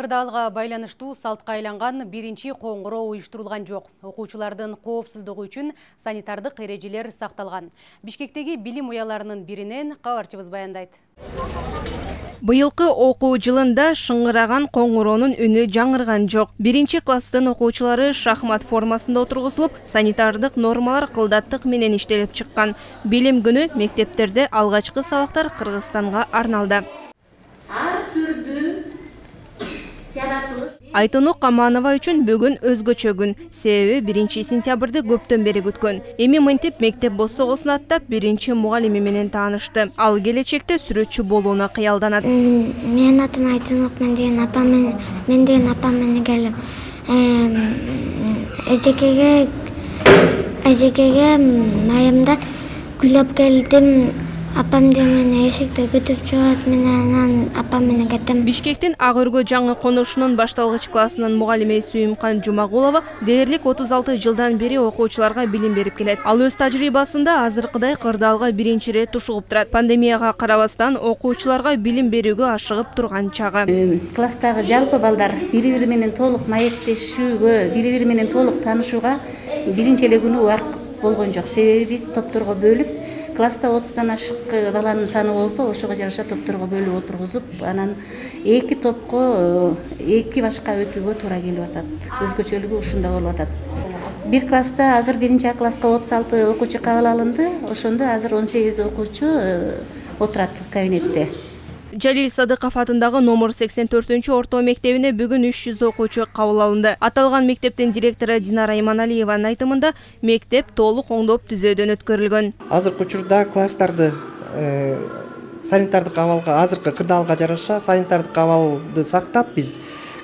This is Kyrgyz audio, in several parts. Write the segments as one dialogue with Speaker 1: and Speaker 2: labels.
Speaker 1: Кырдаалга байланыштуу салтка айланган биринчи коңгуроо уюштурулган жок. Окуучулардын коопсуздугу үчүн санитардык эрежелер сакталган. Бишкектеги билим уяларынын биринен кабарчыбыз баяндайт.
Speaker 2: Быйылкы окуу жылында шыңгыраган коңгуроонун үнү жаңырган жок. Биринчи класстын окуучулары шахмат формасында отургузулуп, санитардык нормалар кылдаттык менен иштелип чыккан. Билим күнү мектептерде алгачкы сабактар Кыргызстанга арналды. Айтону Каманова үчүн бүгүн өзгөчө күн. Себеби 1 сентябрды көптөн бери күткөн. Эми мынтип мектеп босогосун аттап, биринчи мугалими менен таанышты. Ал келечекте сүрөтчү болууну кыялданат.
Speaker 3: Менин атым Айтонук, мен деген апам менен келип, эжекеге майымда күлөп келдим. Апам мени эшикте күтүп чыгат, мен анан апам менен кеттим.
Speaker 2: Бишкектин Ак Өргө жаңы конушунун башталгыч классынын мугалими Сүйүмкан Жумагулова дээрлик 36 жылдан бери окуучуларга билим берип келет. Ал өз тажрыйбасында азыркыдай Кырдаалга биринчи ирет тушугуп турат. Пандемияга карабастан окуучуларга билим берүүгө ашыгып турган чагы.
Speaker 4: Класстагы жалпы балдар бири-бири менен толук маектешүүгө, бири-бири менен толук таанышууга биринчи эле күнү убакыт болгон жок. Себеби биз топторго бөлүп, класста 30-дан ашык баланын саны болсо, ошого жараша топторго бөлүп отургузуп, анан эки топко эки башка өтүүгө туура келип атат. Өзгөчөлүгү ушунда болуп атат. Бир класста азыр 1 класска 36 окуучу кабыл алынды. Ошондо азыр 18 окуучу отурат кабинетте.
Speaker 2: Жалил Садыков атындагы номер 84 орто мектебине бүгүн 300 окуучу кабыл алынды. Аталган мектептин директору Динара Иманалиеванын айтымында мектеп толук оңдоп түзөөдөн өткөрүлгөн.
Speaker 5: Азыркы учурда класстарды санитардык абалга, азыркы Кырдаалга жараша санитардык абалды сактап, биз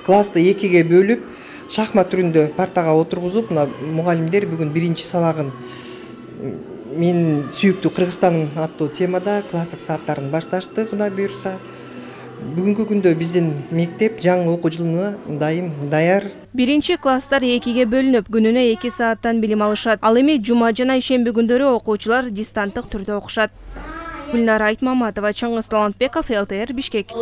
Speaker 5: классты экиге бөлүп, шахмат түрүндө партага отургузуп, мугалимдер бүгүн биринчи сабагын мен сүйүктүү Кыргызстан аттуу темада класстык сааттарын башташты, Кудай буйрса. Бүгүнкү күндө биздин мектеп жаңы окуу жылына даяр.
Speaker 2: Биринчи класстар экиге бөлүнүп, күнүнө 2 сааттан билим алышат. Ал эми жума жана ишемби күндөрү окуучулар дистанттык түрдө окушат. Гүлнара Айтмаматова, Чыңгыз Талантбеков, ЛТР, Бишкек.